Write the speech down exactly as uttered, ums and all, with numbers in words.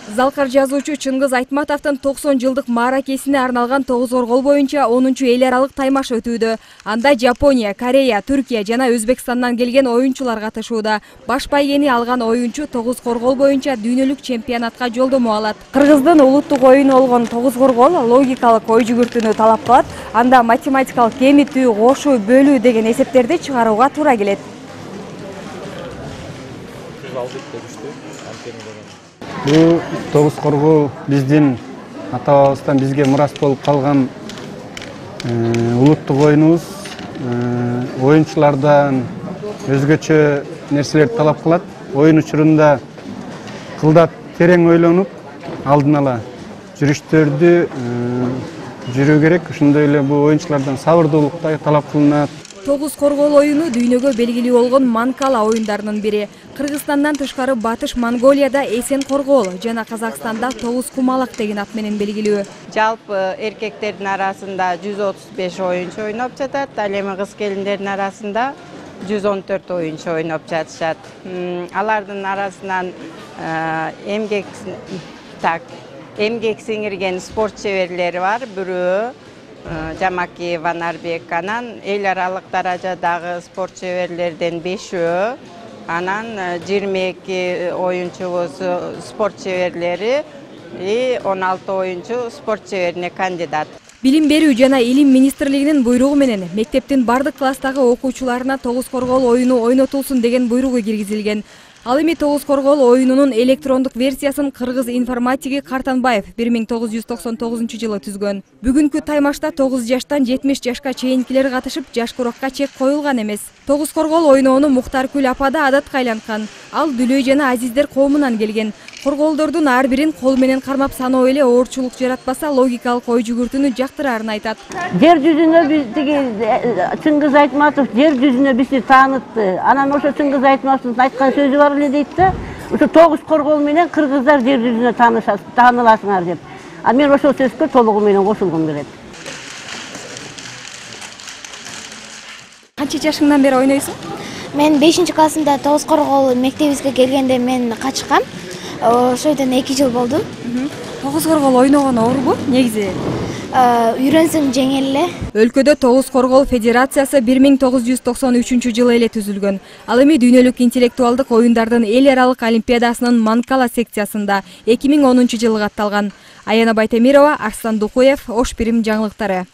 Залкар жазуучу Чыңгыз Айтматовдун токсон жылдык мааракесине арналган тогуз коргол боюнча онунчу эл аралык таймаш өтүүдө. Анда Жапония, Корея, Түркия жана Өзбекстандан келген оюнчулар катышууда. Баш байгени алган оюнчу тогуз коргол боюнча дүйнөлүк чемпионатка жолдомо алат. Кыргыздын улуттук оюну болгон тогуз коргол логикалык ой жүгүртүүнү талап кылат. Анда математикалык кемитүү, кошуу, бөлүү деген эсептерди чыгарууга туура келет. Бул тогуз коргол биздин ата-бабабыздан бизге мурас болуп калган улуттук оюнубуз. Оюнчулардан өзгөчө нерселерди талап кылат. Оюн учурунда кылдат терең ойлонуп, алдын ала жүрүштөрдү жүрүү керек. Ошондой эле бул оюнчулардан сабырдуулук да талап кылынат. Тогуз коргол оюну дүйнөгө белгилүү болгон Манкала оюндарынын бири. Кыргызстандан тышкары Батыш Монголияда Эсен коргол жана Казакстанда тогуз кумалак деген ат менен белгилүү. Жалпы эркектердин арасында жүз отуз беш оюнчу ойноп жатат, ал эми кыз келиндердин арасында жүз он төрт оюнчу ойноп жатышат. Алардын арасынан эмгек так эмгек сиңирген спорт чеберлери бар. Бирөө Жамаки Ванарбек, анан эл аралык даражадагы спорт чеберлерден бешөө, анан жыйырма эки оюнчубуз спорт чеберлери и он алты оюнчу спорт чеберине кандидат. Билим берүү жана илим министрлигинин буйругу менен мектептин бардык класстагы окуучуларына тогуз коргол оюну ойнотулсун деген буйругу киргизилген. Ал эми тогуз коргол оюнунун электрондук версиясын кыргыз информатиги Картанбаев бир миң тогуз жүз токсон тогузунчу жылы түзгөн. Бүгүнкү таймашта тогуз жаштан жетимиш жашка чейинкилер катышып, жаш куракка чек коюлган эмес. Тогуз коргол ойноону Муктаркүл апа да адатка айланткан. Ал Дүлөй жана Азиздер коомунан келген. Корголдордун ар бирин кол менен кармап саноо эле оорчулук жаратпаса, логикалык ой жүгүртүүнү жактырарын айтат. Жер жүзүнө биздиги Чыңгыз Айтматов жер жүзүнө бизди таанытты. Анан ошо Чыңгыз Айтматовдун айткан сөзү бар эле дейт да, ошо тогуз коргол менен кыргыздар жер жүзүнө тааныласыңар деп. А мен ошол сөзгө толугу менен кошулгум келет. Канча жашыңдан бери ойнойсуң? Мен бешинчи классымда тогуз коргол мектебибизге келгенде мен качкам. Ошойдон эки жыл болду. Тогуз коргол ойногон оорбу негизи? Үйрөнсөң жеңил эле. Өлкөдө тогуз коргол федерациясы бир миң тогуз жүз токсон үчүнчү жылы эле түзүлгөн. Ал эми дүйнөлүк интеллектуалдык оюндардын эл аралык олимпиадасынын Манкала секциясында эки миң онунчу жылы катталган. Аяна Байтемирова, Арслан Дукуев, Ош Бирим жаңылыктары.